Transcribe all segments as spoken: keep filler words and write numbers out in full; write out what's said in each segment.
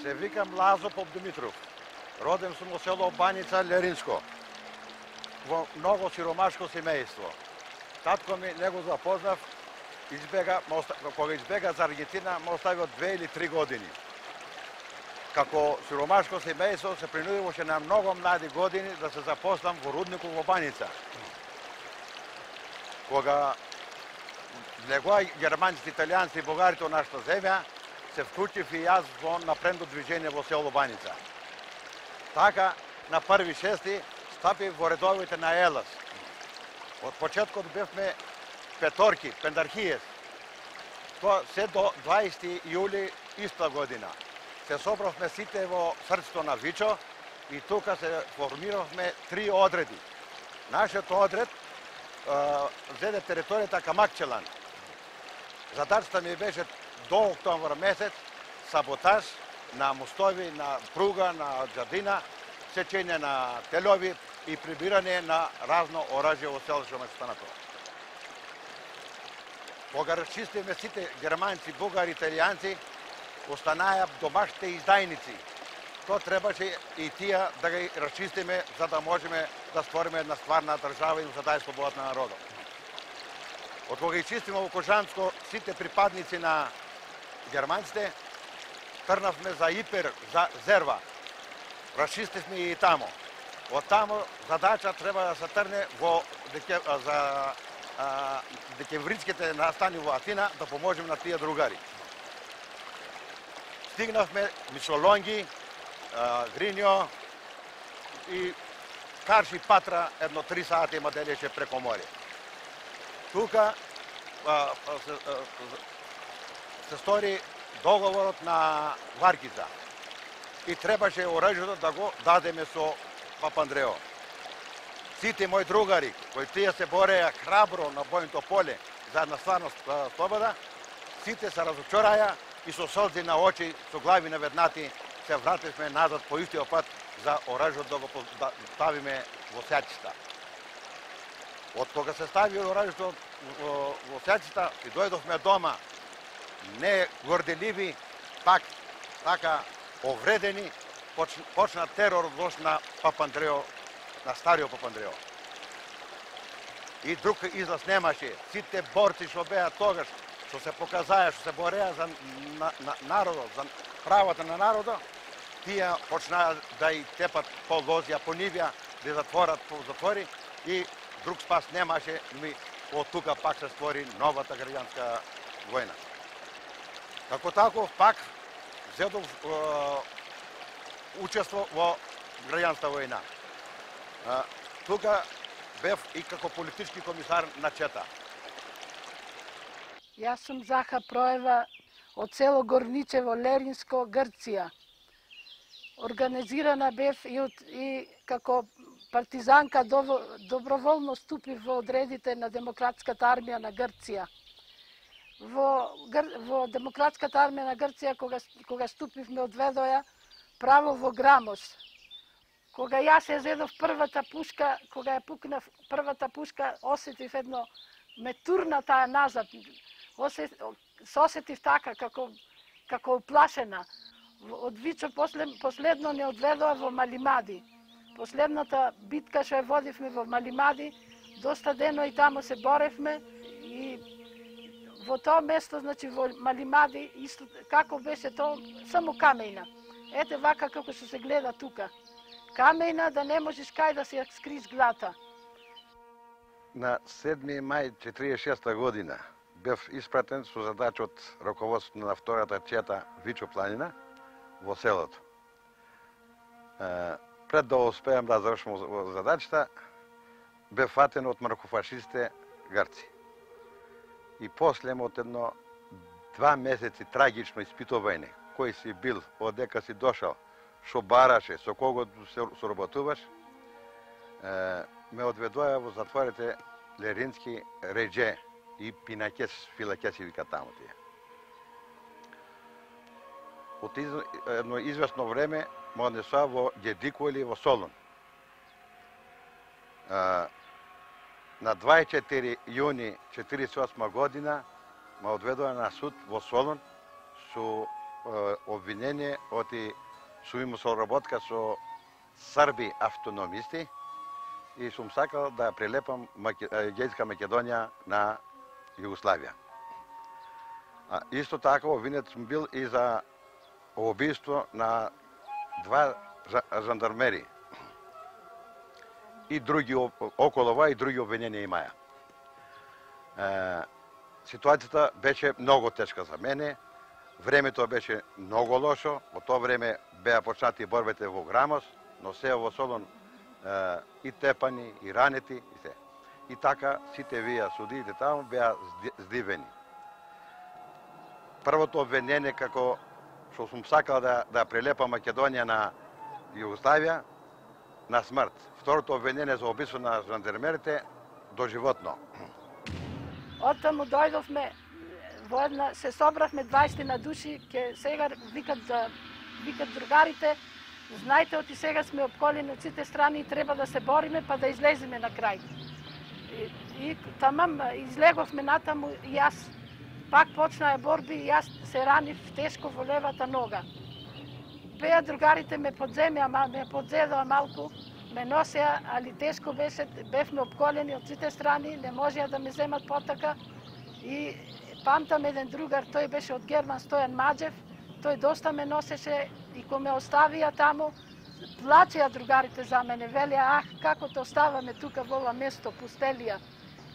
Се викам Лазо Попдимитров. Роден сум во село Баница, Леринско, во многу сиромашко семејство. Татко ми не го запознав, избега, кога избега за Аргентина, ме остави од две или три години. Како сиромашко семејство се принудиваше на многу млади години да се запослам во рудникот во Баница. Кога влегоа германците, италијанци и бугарите во нашата земја, се вклучив и јас во напредно движење во село Баница. Така, на први шести стапив во редовите на Елас. Од почеткот бевме петорки, пендархијес. Тоа се до дваесети јули иста година. Се собравме сите во срцето на Вичо и тука се формиравме три одреди. Нашиот одред земе територијата Камакчелан. Задачата ми беше до октомври месец саботаж на мостови, на пруга, на џардина, сечење на телови и прибирање на разно оръжје во селото Местанато. Кога расчистивме сите германци, бугари, италијанци, останаја домашните издајници. Тоа требаше и тие да ги расчистиме за да можеме да створиме една стварна држава и да даде слободата на народот. Од кога изчистиме во Кожанско сите припадници на германците, трнавме за Ипер, за Зерва. Расчистивме и тамо. Од тамо задача треба да се трне во деке, за а, декемвриските настани во Атина да поможеме на тие другари. Стигнавме Мишолонги, Гринјо и Карши Патра едно три сати има делеше преко море. Тука а, а, се, а, се стори договорот на Варкица и требаше оръжјето да го дадеме со Папандрео. Сите мои другари, кои тие се бореја храбро на бојното поле за една стварна слобода, сите се разочараја и со солзи на очи, со глави наведнати, се вративме назад по истиот пат за оръжјето да го ставиме во сеќата. Од кога се стави оръжјето во, во сеќата и дојдовме дома, не горделиви, пак така овредени, почна, почна терор вош на Папандрео, на стариот Папандрео. И друг излаз немаше. Сите борци што беа тогаш, што се показаја, што се бореа за на, на, народот, за правата на народот, тие почнаа да и тепат по лозија, по нивја, да затворат по затвори и друг спас немаше, ми од тука пак се створи новата граѓанска војна. Како таков пак зедов е, учество во граѓанска војна. Е, тука бев и како политички комисар на Чета. Јас сум Заха Проева од село Горничево, Леринско, Грција. Организирана бев и, од, и како партизанка доброволно ступив во одредите на Демократската армија на Грција. Во, во Демократската армија на Грција, кога, кога ступив, ме одведоја право во Грамос. Кога јас ја зедов првата пушка, кога ја пукнав првата пушка, осетив едно, ме турна таа назад. Осет, се осетив така, како, како уплашена. Од Вичо после, последно не одведоа во Малимади. Последната битка што ја водивме во Малимади, доста дено и тамо се боревме и во тоа место, значи во Малимади, исто како беше тоа, само камејна. Ете вака како што се гледа тука. Камејна да не можеш кај да се скриш глата. На седми мај четиридесет и шеста година бев испратен со задача од раководството на втората Чета Вичо планина во селото. Пред да успеам да завршам задачата, бев фатен од маркофашистите Грци. И после од едно два месеци трагично испитување, кој си бил, одека си дошал, што бараше, со кого се соработуваш, ме одведоја во затворите Лерински, Редже и Пинакес, Филакес и вика таму тие. Од едно известно време ме однесоа во Гедико или во Солун. На дваесет и четири јуни четиридесет и осма година ме одведоа на суд во Солун со обвинение оти сум имал соработка со срби автономисти и сум сакал да прилепам Егејска Македонија на Југославија. А исто така обвинет сум бил и за убиство на два жандармери и други околу ова и други обвиненија имаја. Е, ситуацијата беше многу тешка за мене, времето беше многу лошо, во тоа време беа почнати борбите во Грамос, но се во Солун е, и тепани, и ранети, и се. И така сите вие судиите таму беа здивени. Првото обвинение како што сум сакал да, да прилепам Македонија на Југославија, на смрт. Второто обвинение за убиство на жандармерите доживотно. Оттаму дојдовме во една, се собравме дваесет души, ке сега викат да викат другарите, знаете, оти сега сме опколени од сите страни и треба да се бориме па да излеземе на крај. И, и тамам излеговме натаму и јас пак почнаа борби и јас се ранив тешко во левата нога. Беа другарите ме подземеа, ме подзедоа малку, ме носеа, али тешко беше, бевме опколени од сите страни, не можеа да ме земат потака. И памтам еден другар, тој беше од Герман, Стојан Маџев, тој доста ме носеше и кога ме оставија таму, плачеа другарите за мене, велеа, ах, како те оставаме тука во ова место, пустелија,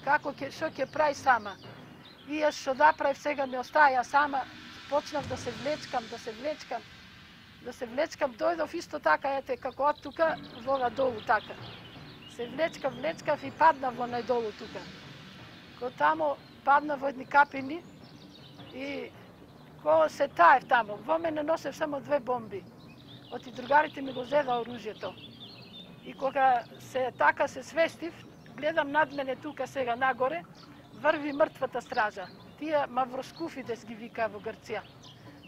како ќе, што ќе прави сама. И јас што да правив, сега ме остаја сама, почнав да се влечкам, да се влечкам, да се влечкам, дојдов исто така, ете, како од тука, во ова долу така. Се влечкав, влечкав и паднав во најдолу тука. Ко тамо паднав во едни капини и ко се таев тамо, во мене носев само две бомби. Оти другарите ми го зеда оружјето. И кога се така се свестив, гледам над мене тука сега нагоре, врви мртвата стража. Тие мавроскуфидес ги вика во Грција.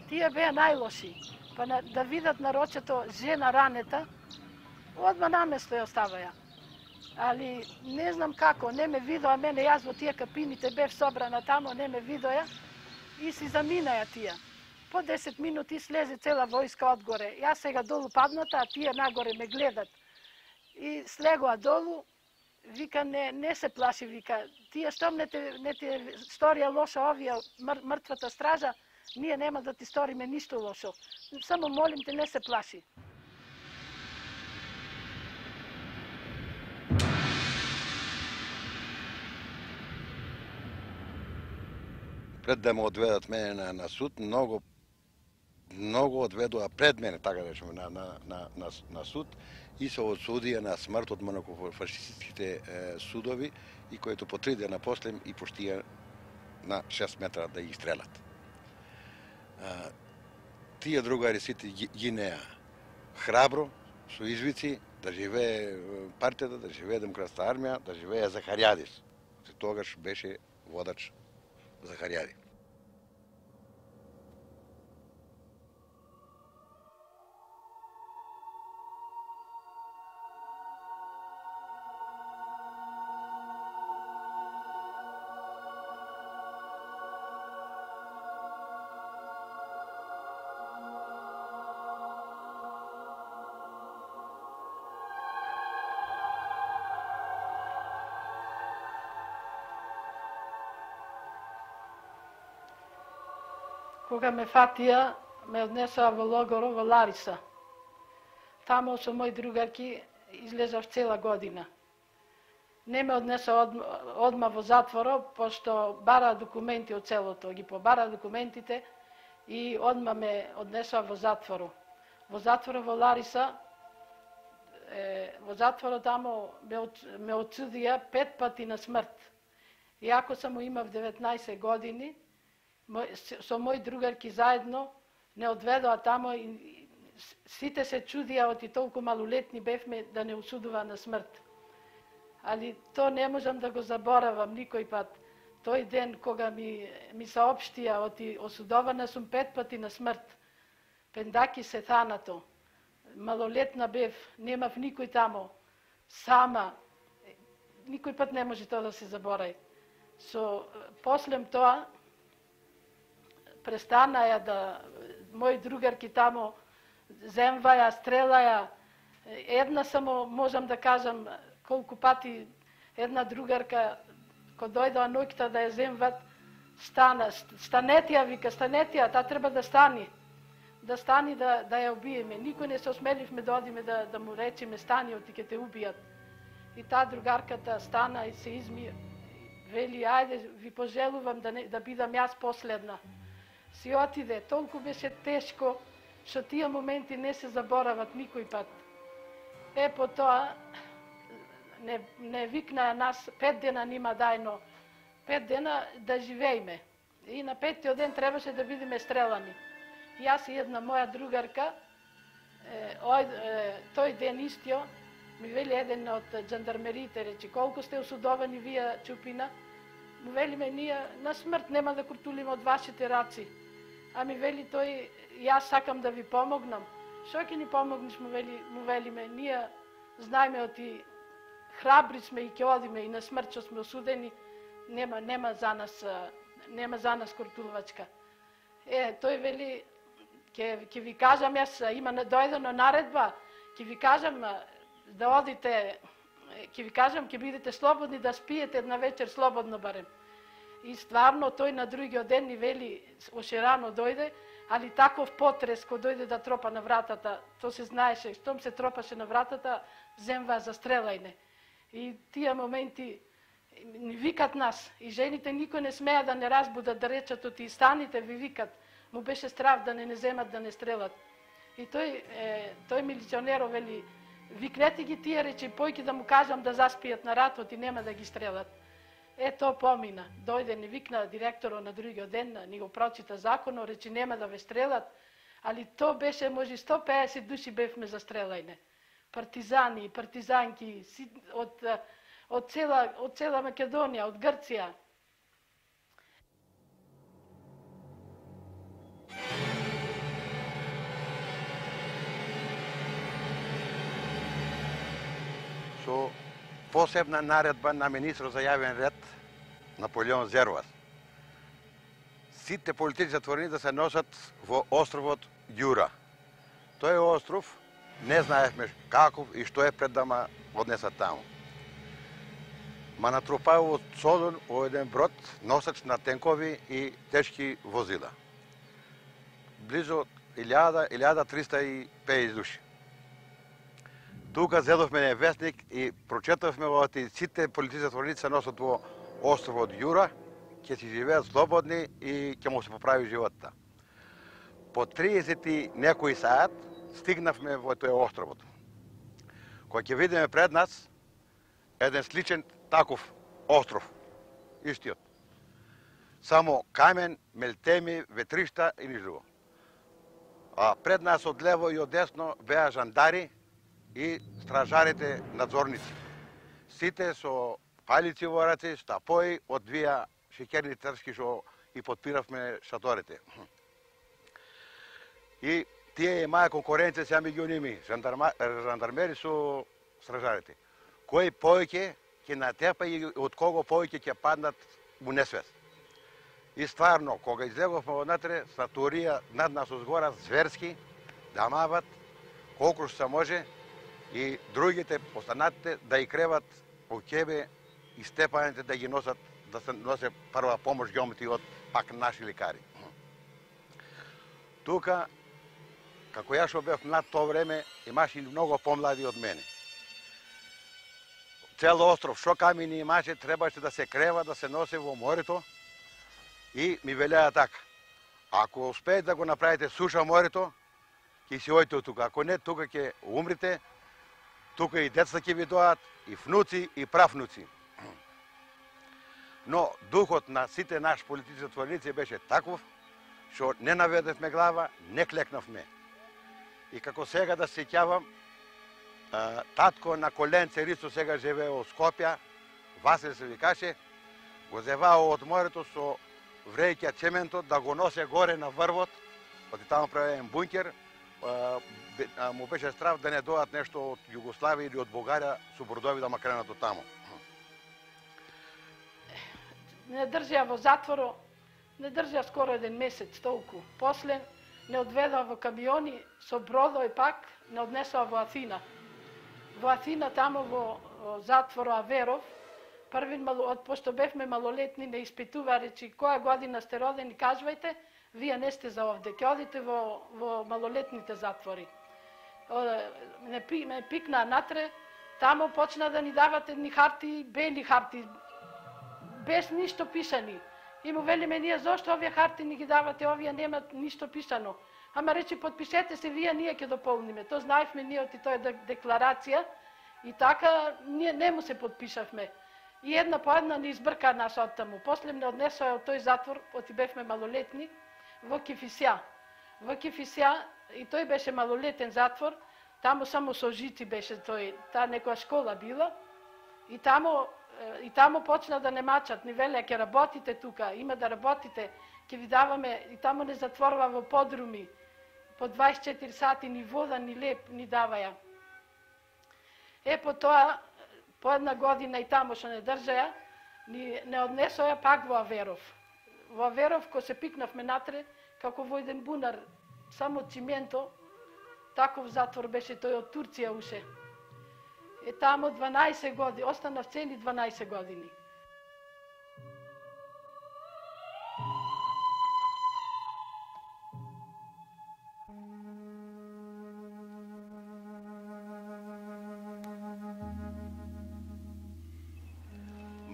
Тие беа најлоши. Па на, да видат на рочето жена ранета, одма наместо ја оставаја. Али не знам како, не ме видоа мене, јас во тие капините бев собрана тамо, не ме видоа и си заминаја тие. По десет минути слезе цела војска одгоре. Јас сега долу падната, а тие нагоре ме гледат. И слегоа долу, вика, не, не се плаши, вика, тие штом не те, не те сторија лошо овие, мр, мртвата стража, ние нема да ти сториме ништо лошо. Само молим те, не се плаши. Пред да ме одведат мене на, на суд, многу многу одведоа пред мене, така да речеме, на, на, на, на, на суд и се осудија на смрт од монако-фашистските е, судови и којто по три дена после и поштија на шест метра да ги стрелат. А, тие другари сите гинеа храбро, со извици, да живее партијата, да живее Демократската армија, да живее Захаријадис. Тогаш беше водач Захаријади. Кога ме фатија, ме однесоа во логоро во Лариса. Тамо со мои другарки излезав цела година. Не ме однесоа од, одма во затворо, пошто бара документи од целото, ги побара документите и одма ме однесоа во затворо. Во затворо во Лариса, е, во затворо тамо ме, ме отсудија пет пати на смрт. Иако само имав деветнаесет години, со мои другарки заедно не одведоа тамо и сите се чудија оти толку малолетни бевме да не осудува на смрт. Али то не можам да го заборавам никој пат. Тој ден кога ми, ми саопштија оти осудована сум пет пати на смрт. Пендаки се thanato. Малолетна бев, немав никој тамо. Сама. Никој пат не може тоа да се заборави. Со послем тоа престанаја да мои другарки тамо земваја, стрелаја. Една само можам да кажам колку пати една другарка кој дојдоа ноќта да ја земват, стана, станетија, вика, станетија, та треба да стани. Да стани да, да ја убиеме. Никој не се осмеливме да одиме да, да му речеме стани, оти ќе те убијат. И таа другарката стана и се изми, вели, ајде, ви пожелувам да, не, да бидам јас последна. Си отиде, толку беше тешко, што тие моменти не се заборават никој пат. Е, по тоа, не, не викна нас, пет дена нима дајно, пет дена да живееме. И на петтиот ден требаше да бидеме стрелани. Јас и една моја другарка, е, ој, е, тој ден истио, ми вели еден од жандармерите, речи, колку сте осудовани вие, Чупина? Му велиме, ние на смрт нема да куртулиме од вашите раци. А ми вели тој, јас сакам да ви помогнам. Шо ќе ни помогнеш, му, вели, му велиме, ние знаеме оти храбри сме и ќе одиме и на смрт што сме осудени, нема, нема за нас, нема за нас куртулвачка. Е, тој вели, ќе, ќе ви кажам, јас има дојдено наредба, ќе ви кажам да одите, ќе ви кажам, ќе бидете слободни да спиете една вечер слободно барем. И стварно тој на другиот ден ни вели, ошерано дојде, али таков потрес кој дојде да тропа на вратата, то се знаеше, штом се тропаше на вратата, земва за стрелајне. И тие моменти ни викат нас, и жените никој не смеа да не разбудат, да речат оти станите, ви викат. Му беше страв да не не земат, да не стрелат. И тој, е, тој милиционеро вели, викнете ги тие, рече, појки да му кажам да заспијат на ратот и нема да ги стрелат. Е, то помина. Дојде, ни викна директорот на другиот ден, ни го прочита законот, рече, нема да ве стрелат, али то беше, може, сто пеесет души бевме за стрелајне. Партизани, партизанки, од, од, цела, од цела Македонија, од Грција. Со посебна наредба на министрот за јавен ред Наполеон Зервас, сите политички затворени да се носат во островот Ѓура. Тој остров не знаевме каков и што е пред да ма однесат таму. Ма натрупао цодон во еден брод носач на тенкови и тешки возила. Близо илјада до илјада триста и пеесет души. Тука зедовме вестник и прочетавме во сите политички затвореници се носат во островот Ѓура, ќе си живеат слободни и ќе му се поправи животта. По триесет и некој саат стигнавме во тој островот. Кој ќе видиме пред нас еден сличен таков остров, истиот. Само камен, мелтеми, ветришта и ниш друго. А пред нас од лево и од десно беа жандари и стражарите надзорници. Сите со палици во раци, стапои, одвија шеќерни тршки што и подпиравме шаторите. И тие имаа конкуренција сега меѓу ними, жандармери со стражарите. Кој повеќе ќе натепа и од кого повеќе ќе паднат во несвест. И стварно, кога излеговме однатре, сатурија над нас озгора зверски, да мават колку што се може и другите останатите да и креват по ќебе и степаните да ги носат, да се носе прва помош геомети од пак наши лекари. Тука, како ја што бев млад тоа време, имаше и многу помлади од мене. Цел остров, шо камини имаше, требаше да се крева, да се носи во морето и ми велеа така. Ако успеете да го направите суша морето, ќе си ојте од тука. Ако не, тука ќе умрите, тука и деца ќе ви доат, и внуци, и правнуци. Но духот на сите наши политички затвореници беше таков, што не наведевме глава, не клекнавме. И како сега да се сеќавам, татко на коленце Рицо сега живее во Скопје, Васил се викаше, го зевао од морето со вреќа цементот да го носе горе на врвот, оти таму правен бункер, му беше страв да не доат нешто од Југославија или од Бугарија со бродови да ма кренат од таму. Не држја во затворо, не држја скоро еден месец толку. После не одведоа во камиони со бродови пак, не однесоа во Атина. Во Атина, тамо во затвор Аверов, први, пошто бевме малолетни, не испитува, речи, која година сте родени, кажувајте, вие не сте за овде, ќе одите во, во малолетните затвори. Ме, ме пикнаа натре, тамо почна да ни дават едни харти, бели харти, без ништо пишани. И му велиме ние, зошто овие харти ни ги давате, овие немат ништо пишано. Ама речи, подпишете се вие, ние ќе дополниме. То знаевме ние оти тоа е декларација и така ние не му се подпишавме. И една по една ни избрка нас од таму. После не однесоа од тој затвор, оти бевме малолетни, во Кифисја. Во Кифисја, и тој беше малолетен затвор, таму само со жици беше тој, таа некоја школа била, и таму и таму почна да не мачат, ни велеа ќе работите тука, има да работите, ќе ви даваме, и таму не затворува во подруми, по дваесет и четири сати ни вода, ни леп, ни даваја. Е, по тоа, по една година и таму што не држаја, ни не однесоја пак во Аверов. Во Аверов, ко се пикнавме натре, како во еден бунар, само цименто, таков затвор беше тој од Турција уше. Е, тамо дванаесет години, останав цели дванаесет години.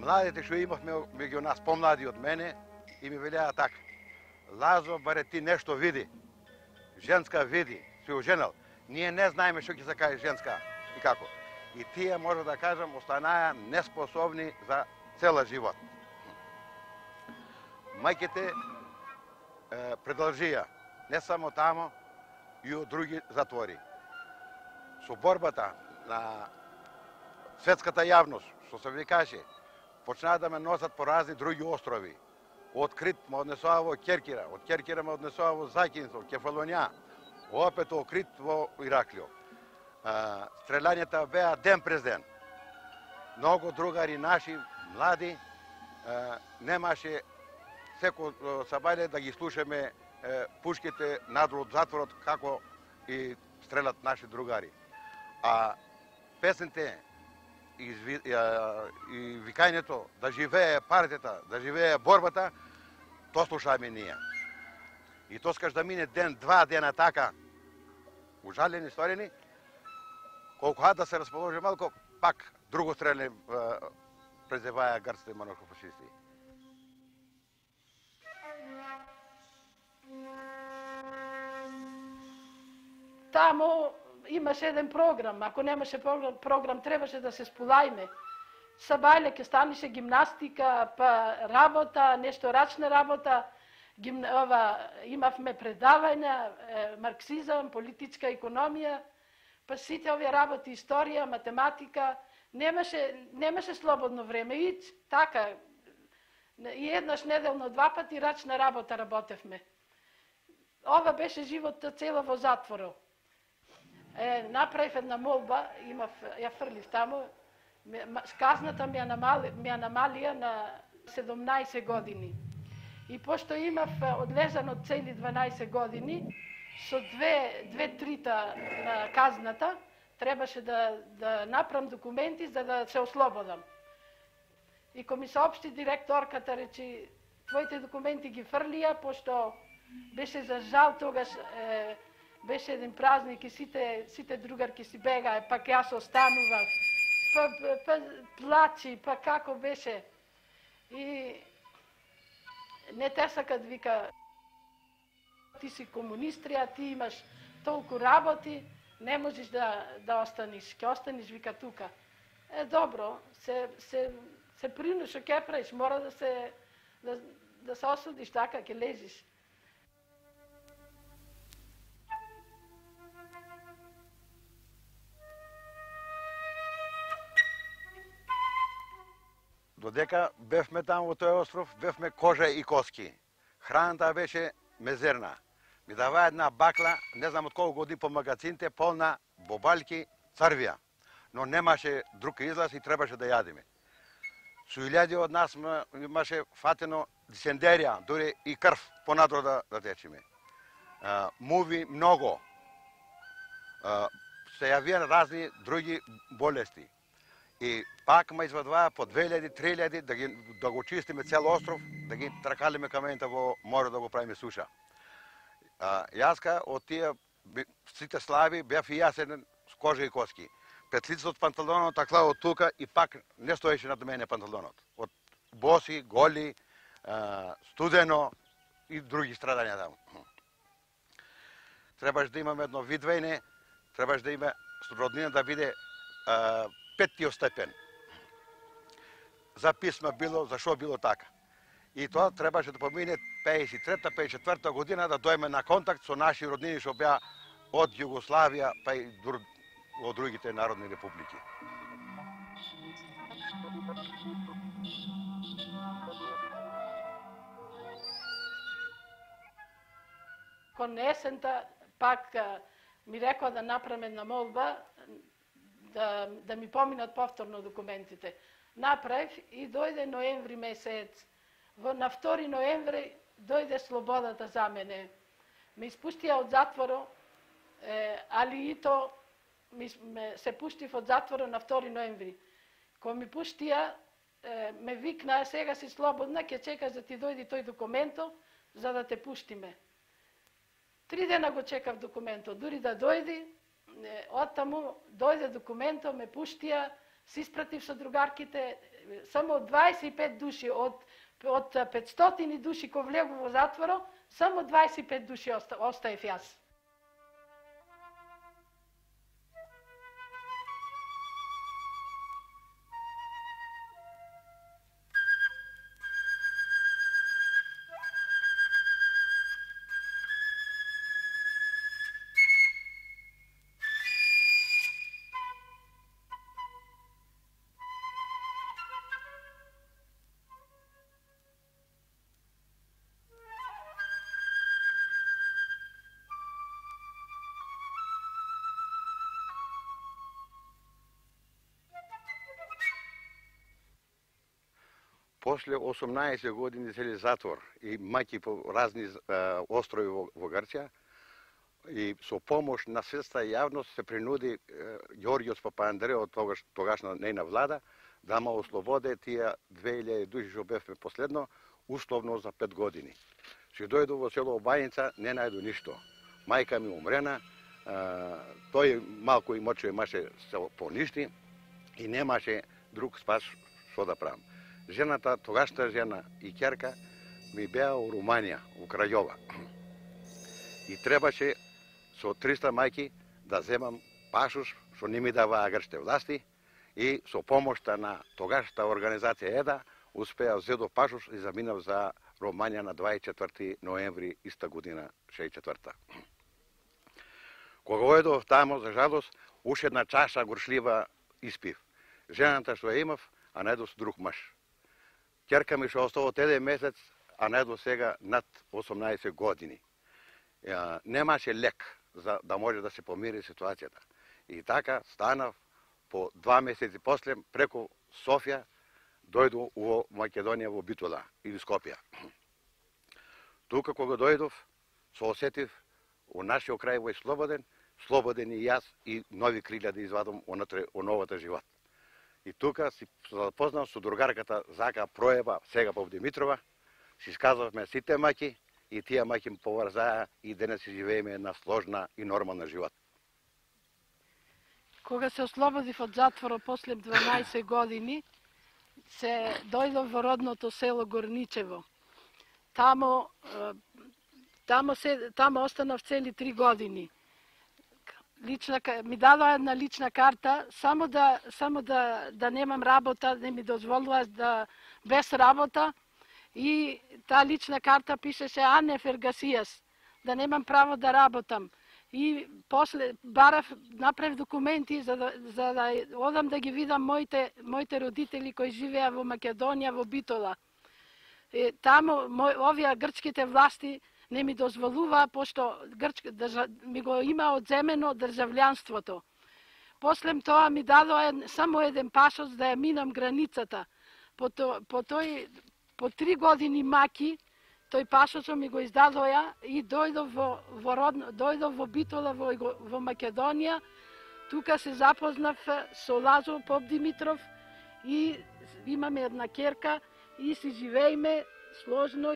Младите што имавме меѓу нас, помлади од мене, и ми велеа така: Лазо, баре ти нешто види, женска види, си оженал. Ние не знаеме што ќе се каже женска и како. И тие, може да кажам, останаа неспособни за цела живот. Мајките е, продолжија, не само тамо, и од други затвори. Со борбата на светската јавност, што се викаше, почнаа да ме носат по разни други острови. Од Крит ме однесоа во Керкира, од Керкира ме однесоа во Закинцо, Кефалонија, опет во Крит во Ираклио. Стрелањата беа ден през ден. Многу другари наши, млади, немаше секој сабајле да ги слушаме пушките надвор од затворот како и стрелат наши другари. А песните и викањето да живее партијата, да живее борбата, то слушаме ние. И то скаш да мине ден, два дена така, ужалени, сторени, колку да се расположи малко, пак друго стреле презеваја грците монархофашисти. Тамо имаше еден програм, ако немаше програм, програм требаше да се сполајме. Сабајле ке станеше гимнастика, па работа, нешто рачна работа, гим... ова, имавме предавања, марксизам, политичка економија, па сите овие работи, историја, математика, немаше, немаше слободно време. И така, и еднаш неделно два пати рачна работа работевме. Ова беше животот цело во затворот. Е, направив една молба, имав, ја фрлив тамо, казната ми ја намали, ми ја намалија на седумнаесет години. И пошто имав одлежано цели дванаесет години, со две, две трита на казната, требаше да, да направам документи за да се ослободам. И ко ми соопшти директорката, речи, твоите документи ги фрлија, пошто беше за жал тогаш, е, беше еден празник и сите, сите другарки си бегаe, пак јас останував, па, па, па плачи, па како беше. И не те сакат, вика, ти си комунистрија, ти имаш толку работи, не можеш да, да останиш, ќе останиш, вика, тука. Е, добро, се, се, се прину, шо ќе правиш, мора да се, да, да се осудиш, така, ќе лежиш. Додека бевме таму во тој остров, бевме кожа и коски. Храната беше мезерна. Ми даваа една бакла, не знам од колку години по магазините, полна бобалки, црвија. Но немаше друг излаз и требаше да јадиме. Со илјади од нас имаше фатено дисендерија, дури и крв понадро да, да течиме. муви многу. Се јавија разни други болести. И пак ме извадуваа по две илјади, три илјади да, ги, да го чистиме цел остров, да ги тракалиме камените во море да го правиме суша. А, јаска од тие сите слави бев и јас еден с кожа и коски. Петлицата од панталонот такла од тука и пак не стоеше над мене панталонот. Од боси, голи, а, студено и други страдања таму. Требаш да имаме едно видвење, требаш да има роднина да биде а, петтиот степен. За писма било, за шо било така. И тоа требаше да помине пеесет и трета, пеесет и четврта година да дојме на контакт со наши роднини што беа од Југославија па и од другите народни републики. Кон есента пак ми рекоа да направам една молба да, да ми поминат повторно документите. Направив и дојде ноември месец. Во, на втори ноември дојде слободата за мене. Ме испуштија од затворо, е, али и то ми, ме, се пуштив од затворо на втори ноември. Кога ми пуштија, е, ме викнаа, сега си слободна, ќе чекаш да ти дојди тој документо, за да те пуштиме. Три дена го чекав документо, дури да дојди, оттаму дојде документо, ме пуштија, се испратив со другарките, само дваесет и пет души од од петстотини души кои влегу во затворо, само дваесет и пет души оста, остаев јас. После осумнаесет години цели затвор и маки по разни а, острови во, во Грција и со помош на светска јавност се принуди Ѓорѓос Папандреј од тогаш, тогашна нејна влада да ма ослободе тие две илјади души што бевме последно условно за пет години. Си дојду во село Обајница, не најду ништо. Мајка ми умрена, а, тој малку имоче имаше се поништи и немаше друг спас што да правам. Жената, тогашната жена и ќерка ми беа у Руманија, у Крајова. И требаше со триста мајки да земам пашуш, што не ми даваа грчките власти, и со помошта на тогашната организација ЕДА успеа зедо пашуш и заминав за Руманија на дваесет и четврти ноември иста година, шеесет и четврта. Кога ојдов тамо, за жалост, уште една чаша горшлива испив. Жената што ја имав, а најдов со друг маж. Ќерка ми што остава од еден месец, а најдов сега над осумнаесет години. Немаше лек за да може да се помири ситуацијата. И така станав по два месеци после преку Софија дојду во Македонија во Битола или Скопје. Тука кога дојдов, се осетив у нашиот крај во слободен, слободен и јас и нови крилја да извадам онатре о новата живот. И тука си запознав со другарката Зака Проеба, сега по Димитрова, си сказавме сите маки и тие маки ме поврзаа и денес си живееме една сложна и нормална живот. Кога се ослободив од затвора после дванаесет години, се дојдов во родното село Горничево. Тамо, тамо, се, тамо останав цели три години. Лична, ми дадоа една лична карта, само да, само да, да немам работа, не ми дозволува да без работа. И таа лична карта пишеше Ане Фергасијас, да немам право да работам. И после барав, направив документи за да, за да одам да ги видам моите, моите родители кои живеа во Македонија, во Битола. И тамо мој, овие грчките власти не ми дозволува, пошто грчка, држа, ми го има одземено државлjanството. После тоа ми дадоа само еден пашос да ја минам границата. По, то, по тој по три години маки, тој пашачо ми го издадоја и дојдов во, во, родно, дојдов во Битола во, во Македонија. Тука се запознав со Лазо Попдимитров и имаме една керка и си живееме сложно.